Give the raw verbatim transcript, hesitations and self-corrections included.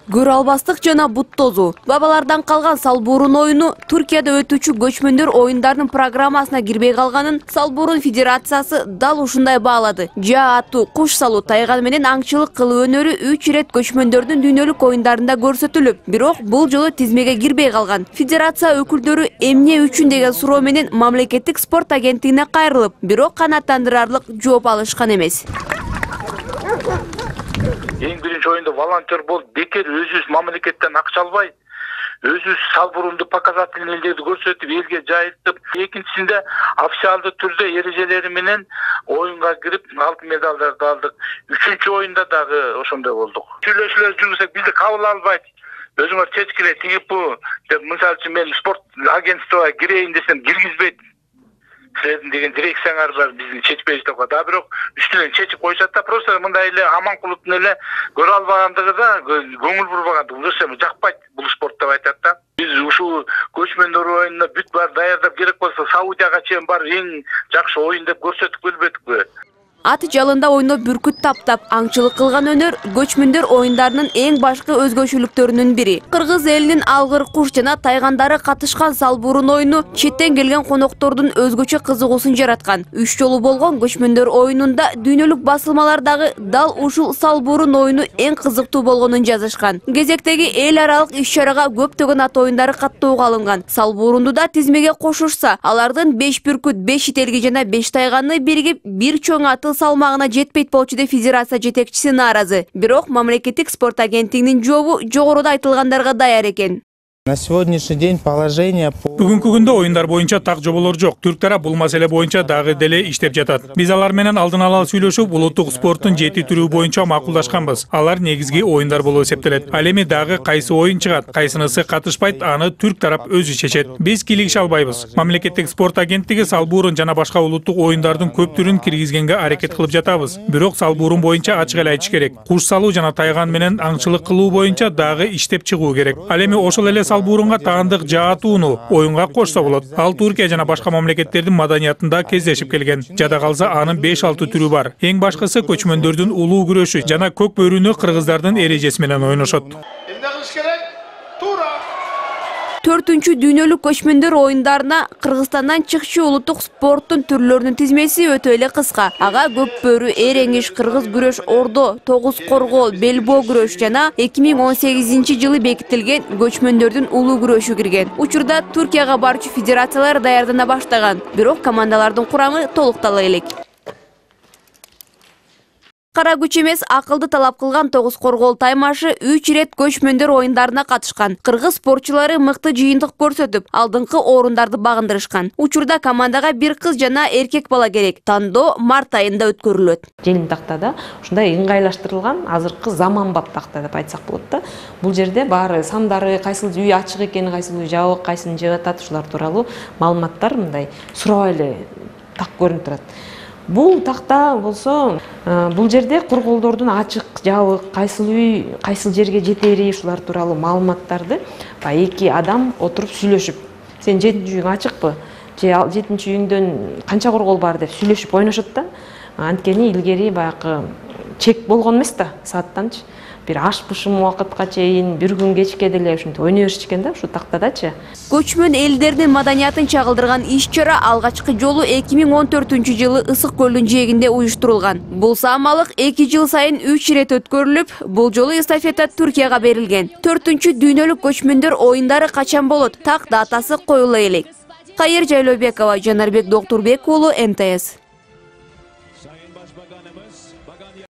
Көрө албастык жана бут тозуу. Бабалардан калган салбурун оюну Түркияда өтүүчү көчмөндөр оюндарынын программасына кирбей калганын Салбурун Федерациясы дал ушундай баалады. Жаа аттуу куш салуу, тайган менен аңчылык кылуу өнөрү үч ирет көчмөндөрдүн дүйнөлүк оюндарында көрсөтүлүп, бирок бул жолу тизмеге кирбей калган. Федерация өкүлдөрү эмне үчүн деген суроо менен мамлекеттик спорт агенттигине кайрылып, бирок канааттандырарлык жооп алышкан эмес. Эң биринчи оюнда волонтер болуп, бекер өзүбүз мамлекеттен акча албай, өзүбүз салбурунду показательныйлерди көрсөтүп, элге жайылтып, экинчисинде официалдуу түрдө эрежелери менен оюнга кирип, алтын медалдарды алдык. Үчүнчү оюнда дагы ошондой болдук. Сүйлөшүүлөр жүргүзсөк, бизди кабыл албайт. Өзүңөр чечкиле тиги бу деп, мисалы үчүн мен спорт агентствого кирейин десем, киргизбейт. Силердин деген дирекцияңар бар, бизди чечпейбиз деп коет. А бирок үстүнөн чечип койшат да, просто мындай эле Аманкуловдун эле көрө албагандыгы да, көңүл бурбагандыгы. Көрсөм жакпайт бул спорт деп айтат да. Биз ушул көчмөндөр оюнуна бүт бар даярдап, керек болсо Саудияга чейин бар эң жакшы оюн деп көрсөтүп келбедикпи? Ат жалында ойноп бүркүт таптап, аңчылык кылган өнөр көчмөндөр оюндарынын эң башкы өзгөчөлүктөрүнүн бири. Кыргыз элинин алгыр куш жана тайгандары катышкан салбурун оюну четтен келген коноктордун өзгөчө кызыгуусун жараткан. Үч жолу болгон көчмөндөр оюнунда дүйнөлүк басылмалардагы дал ушул салбурун оюну эң кызыктуу болгонун жазышкан. Кезектеги эл аралык иш-чарага көптөгөн ат оюндары каттоого алынган. Салбурунду да тизмеге кошушса, алардын беш бүркүт, беш ителги жана беш тайганы биригип бир чоң аты салмагына жетпейт болчу деп федерация жетекчиси нааразы. Бирок мамлекеттик спорт агенттигинин жообу жогоруда айтылгандарга даяр экен. На сегодняшний день положение по... Бүгүнкү күндө оюндар боюнча так жоболор жок. Түрк тарап бул маселе боюнча дагы деле иштеп жатат. Биз алар менен алдын ала сүйлөшүп, улуттук спорттун жети түрү боюнча макулдашканбыз. Алар негизги оюндар болуп эсептелет. Ал эми дагы кайсы оюн чыгат, кайсынысы катышпайт, аны түрк тарап өзү чечет. Биз кийлигише албайбыз. Мамлекеттик спорт агенттиги салбурун жана башка улуттук оюндардын көп түрүн киргизгенге аракет кылып жатабыз. Бирок салбурун боюнча ачык эле айтыш керек. Куш салуу жана тайган менен аңчылык кылуу боюнча дагы иштеп чыгуу керек. Ал эми ошол эле салбурунга таандык жаатууну оюнга кошсо болот. Ал Түркия жана башка мамлекеттердин маданиятында кездешип келген. Жада калса анын беш алты түрү бар. Эң башкысы көчмөндөрдүн улуу күрөшү жана көк бөрүнү кыргыздардын эрежеси менен ойношот. Эмне кылыш керек? Туура. Төртүнчү дүйнөлүк көчмөндөр оюндарына Кыргызстандан чыкчу улуттук спорттун түрлөрүнүн тизмеси өтө эле кыска. Ага көк бөрү, эреңиш, кыргыз күрөш, ордо, тогуз коргоо, белбоо күрөш жана эки миң он сегизинчи жылы бекитилген көчмөндөрдүн улуу күрөшү кирген. Учурда Түркияга барчу федерациялар даярдана баштаган, бирок командалардын курамы толуктала элек. Кара күч эмес, акылды талап кылган тогуз коргоол таймашы үч ирет көчмөндөр оюндарына катышкан. Кыргыз спортчулары мыкты жыйынтык көрсөтүп, алдыңкы орундарды багындырышкан. Учурда командага бир кыз жана эркек бала керек. Тандоо март айында өткөрүлөт. Желим тактада ушундай ыңгайлаштырылган азыркы заманбап такта деп айтсак болот да. Бул жерде баары сандары, кайсыл үй ачык экени, кайсыл үй жабык, кайсыны жеп атат, ушулар тууралуу маалыматтар мындай сурабай эле так көрүнүп турат. Бул такта болсо, бул жерде корголдордун ачык, жабык, кайсыл үй, кайсыл жерге жетери, ушулар тууралуу маалыматтарды эки адам отуруп сүйлөшүп, сен жетинчи үйүң ачыкпы, же жетинчи үйүңдөн канча коргол бар деп сүйлөшүп ойношот да. Анткени илгери баягы чек болгон эмес да, сааттанчы. Бир аш бышым убакытка чейин, бир күн кечке деле ушинтип ойной беришкен да, ушу тактадачы. Көчмөн элдердин маданиятын чагылдырган иш-чара алгачкы жолу эки миң он төртүнчү жылы Ысык көлдүн жээгинде уюштурулган. Бул саамалык эки жыл сайын үч ирет өткөрүлүп, бул жолу эстафета Түркияга берилген. Төртүнчү дүйнөлүк көчмөндөр оюндары качан болот? Так датасы коюла элек. Кайыр Жайлообекова, Жанарбек Доктурбек уулу, эм тэ эс.